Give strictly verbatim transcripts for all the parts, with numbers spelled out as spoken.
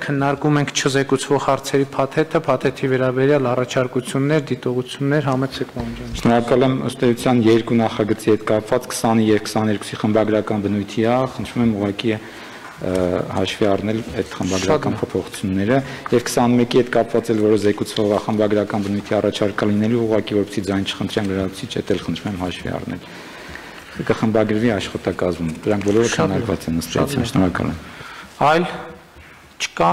քննարկում ենք չզեկուցվող հարցերի փաթեթը, փաթեթի վերաբերյալ առաջարկություններ, դիտողություններ, համեցեք Մանուկյան։ Շնորհակալ եմ, ըստ էության երկու նախագծի հետ կապված քսանը և քսաներկուսի խմբագրական բնույթի է, խնդրում եմ ուղղակի հաշվի առնել այդ խմբագրական փոփոխությունները եւ քսանմեկի հետ կապված էլ որը զեկուցվող խմբագրական բնույթի առաջարկա լինելու ուղղակի որպեսզի ձայն չխնդրեմ լրացուցիչ էլ խնդրում եմ հաշվի առնել։ Կխմբագրվի աշխատակազմում։ Դրանք բոլորը քննարկված են ըստ էության, շնորհակալ եմ։ Այլ չկա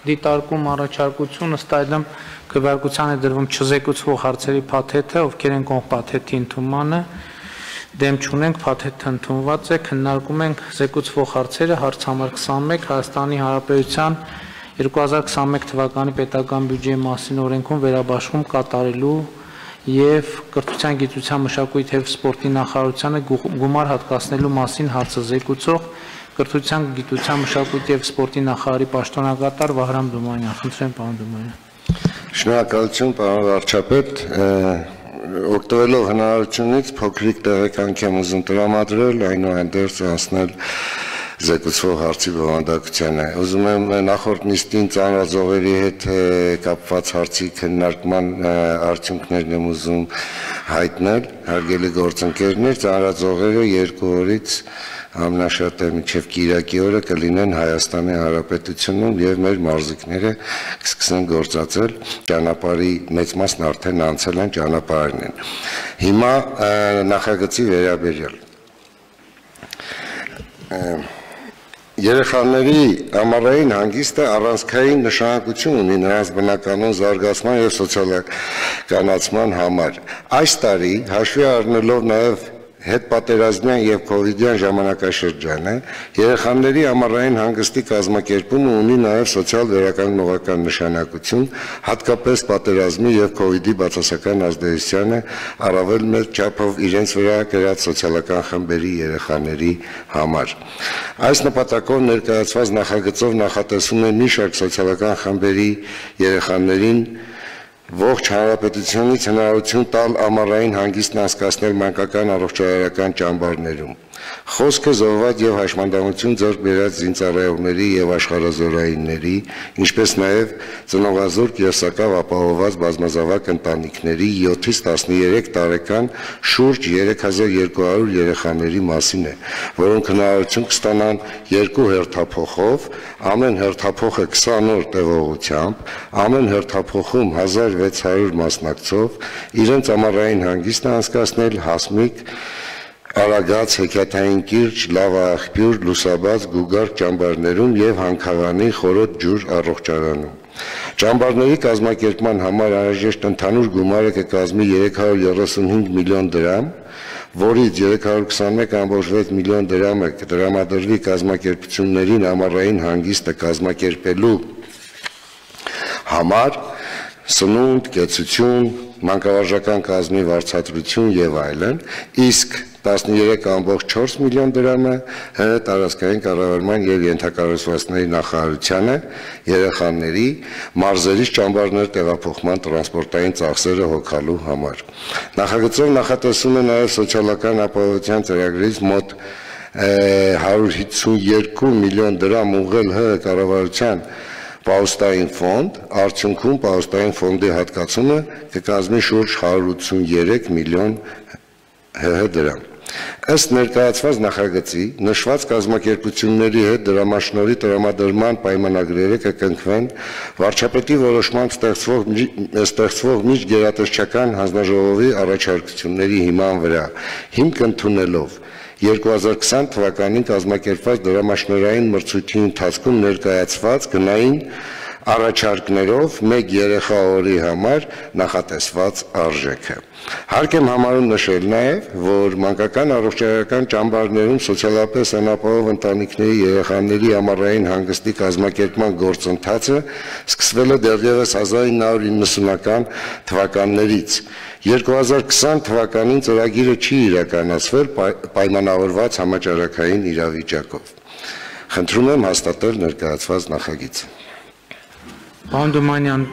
դիտարկում առաջարկություն, ըստ այդմ քվեարկության է դրվում չզեկուցվող հարցերի փաթեթը, ովքեր են կողմ փաթեթի ընդունմանը, դեմ չունենք, փաթեթը ընդունված է, քննարկում ենք զեկուցվող հարցերը, հարց համար քսանմեկ Հայաստանի Հանրապետության երկու հազար քսանմեկ թվականի պետական բյուջեի մասին օրենքում վերաբաշխում կատարելու եւ կրթության, գիտության, մշակույթի եւ սպորտի նախարարությանը գումար հատկացնելու մասին հարցը զեկուցող կրթության, գիտության, մշակույթի եւ սպորտի նախարարի պաշտոնակատար Վահրամ Դոմանյան։ Խնդրեմ, պարոն Դոմանյան։ Շնորհակալություն, պարոն վարչապետ, օգտվելով հնարավորությունից փոքրիկ տեղեկանք եմ ուզում տրամադրել, այնուհանդերձ անցնել զեկուցվող հարցի բովանդակությանը։ Ուզում եմ նախորդ նիստին ծանրաձողերի հետ կապված հարցի քննարկման արդյունքներն եմ ուզում հայտնել, հարգելի գործընկերներ, ծանրաձողերը երկու օրից ամենաշատը մինչև կիրակի օրը կլինեն Հայաստանի Հանրապետությունում եւ մեր մարզիկները կսկսեն գործածել ճանապարհի մեծ մասն արդեն անցել են ճանապարհին են։ Հիմա նախագծի վերաբերյալ Երեխաների ամառային հանգիստը առանցքային նշանակություն ունի նրանց բնականոն զարգացման եւ սոցիալականացման համար։ Այս տարի հաշվի առնելով նաեւ հետպատերազմյան եւ կովիդյան ժամանակաշրջանը երեխաների ամառային հանգստի կազմակերպումը ունի նաեւ սոցիալ վերականգնողական նշանակություն, հատկապես պատերազմի եւ կովիդի բացասական ազդեցությանը առավել մեծ չափով իրենց վրա կրած սոցիալական խմբերի երեխաների համար։ Այս նպատակով ներկայացված նախագծով նախատեսվում է մի շարք սոցիալական խմբերի երեխաներին ողջ հանրապետությունից հնարավորություն տալ ամառային հանգիստն անցկացնել մանկական առողջարարական ճամբարներում։ Խոսքը զոհված եւ հաշմանդամություն ձեռք բերած զինծառայողների եւ աշխարհազորայինների, ինչպես նաեւ ծնողազուրկ եւ սակավ ապահովված բազմազավակ ընտանիքների յոթից տասներեք տարեկան շուրջ երեք հազար երկու հարյուր երեխաների մասին է, որոնք հնարավորություն կստանան երկու հերթափոխով, ամեն հերթափոխը քսան օր տևողությամբ, ամեն հերթափոխում հազար վեց հարյուր մասնակցով իրենց ամառային հանգիստը անցկացնել հասմիկ Արագած, հեքիաթային կիրճ, լավա աղբյուր, լուսաբաց, գուգարք ճամբարներում եւ հանքավանի խորոտ ջուր առողջարանում։ Ճամբարների կազմակերպման համար անհրաժեշտ ընդհանուր գումարը կկազմի երեք հարյուր երեսունհինգ միլիոն դրամ, որից երեք հարյուր քսանմեկ կόμ վեց միլիոն դրամը կտրամադրվի կազմակերպություններին ամառային հանգիստը կազմակերպելու համար, սնունդ, կեցություն, մանկավարժական կազմի վարձատրություն եւ այլն, իսկ տասներեք կόμ չորս միլիոն դրամը ՀՀ տարածքային կառավարման եւ ենթակառուցվածքների նախարարությանը երեխաների մարզերից ճամբարներ տեղափոխման տրանսպորտային ծախսերը հոգալու համար։ Նախագծով նախատեսվում է նաեւ սոցիալական ապահովության ծրագրից մոտ հարյուր հիսունյոթ միլիոն դրամ ուղղել ՀՀ կառավարության Պահոստային ֆոնդ, արդյունքում պահոստային ֆոնդի հատկացումը կկազմի շուրջ հարյուր ութսուներեք միլիոն ՀՀ դրամ։ Ըստ ներկայացված նախագծի նշված կազմակերպությունների հետ դրամաշնորհի տրամադրման պայմանագրերը կկնքվեն վարչապետի որոշմամբ ստեղծվող միջգերատեսչական հանձնաժողովի առաջարկությունների հիման վրա, հիմք ընդունելով երկու հազար քսան թվականին կազմակերպված դրամաշնորհային մրցույթի ընթացքում ներկայացված գնային առաջարկներով մեկ երեխա օրի համար նախատեսված արժեքը։ Հարկ եմ համարում նշել նաև, որ մանկական առողջարարական ճամբարներում սոցիալապես անապահով ընտանիքների երեխաների ամառային հանգստի կազմակերպման գործընթացը սկսվել է դեռևս հազար ինը հարյուր իննսունական թվականներից։ երկու հազար քսան թվականին ծրագիրը չի իրականացվել պայմանավորված համաճարակային իրավիճակով։ Խնդրում եմ հաստատել ներկայացված նախագիծը։ Պարոն Դոմանյան,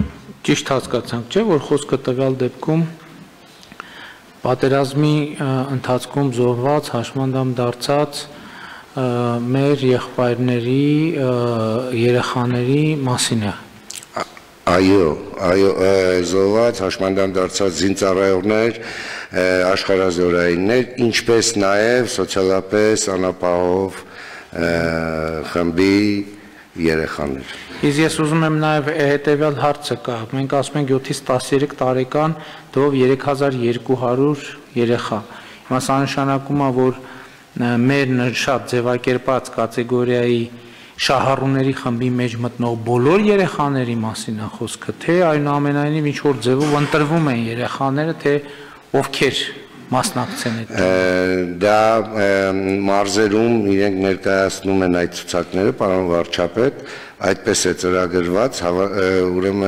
ճիշտ հասկացանք, չէ՞, որ խոսքը տվյալ դեպքում պատերազմի ընթացքում զոհված, հաշմանդամ դարձած մեր եղբայրների երեխաների մասին է։ Այո, այո, զոհված հաշմանդամ դարձած զինծառայողներ, աշխարհազորայիններ, ինչպես նաև սոցիալապես անապահով խմբի երեխաներ։ Իսկ ես ուզում եմ նաև հետևյալ հարցը կա։ Մենք ասում ենք յոթից տասներեք տարեկան դով երեք հազար երկու հարյուր երեխա։ Հիմա սա նշանակում է, որ մեր շատ ձևակերպած կատեգորիայի շահառուների խմբի մեջ մտնող բոլոր երեխաների մասին է խոսքը, թե այնուամենայնիվ ինչ որ ձևով ընտրվում են երեխաները, թե ովքեր մասնակցեն այդ։ Դա մարզերում իրենք ներկայացնում են այդ ցուցակները, պարոն վարչապետ, այդպես է ծրագրված, ուրեմն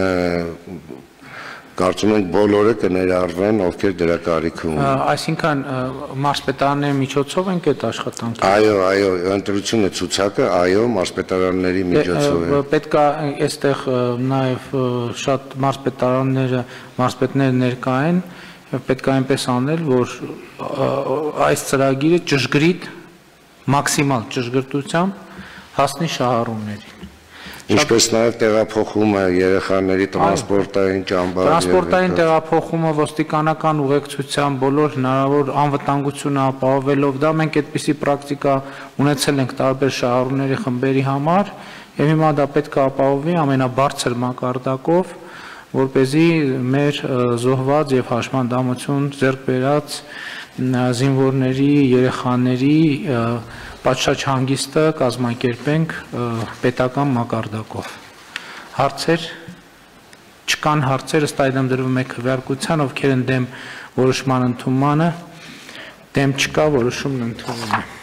կարծում ենք բոլորը կներառվեն, ովքեր դրա կարիք ունեն։ Այսինքն մարզպետարանների միջոցով են այդ աշխատանքը։ Այո, այո, ընտրությունը ցուցակը, այո, մարզպետարանների միջոցով է։ Պետք է այստեղ նաև շատ մարզպետարանները, մարզպետները ներկա են, պետք է այնպես անել, որ այս ծրագիրը ճշգրիտ, մաքսիմալ ճշգրտությամբ հասնի շահառուներին։ Ինչպես նաև տեղափոխումը երեխաների տրանսպորտային ճամբար։ Տրանսպորտային տեղափոխումը ոստիկանական ուղեկցությամբ բոլոր հնարավոր անվտանգությունը ապահովելով, դա մենք այդպիսի պրակտիկա ունեցել ենք տարբեր շահառուների խմբերի համար, եւ հիմա դա պետք է ապահովվի ամենաբարձր մակարդակով, որպեսզի մեր զոհված եւ հաշմանդամություն ձեռք բերած զինվորների, երեխաների պատշաճ հանգիստը կազմակերպենք պետական մակարդակով։ Հարցեր չկան հարցեր, ըստ այդմ դրվում է քվեարկության, ովքեր են դեմ որոշման ընդունմանը, դեմ չկա, որոշումն ընդունվում է։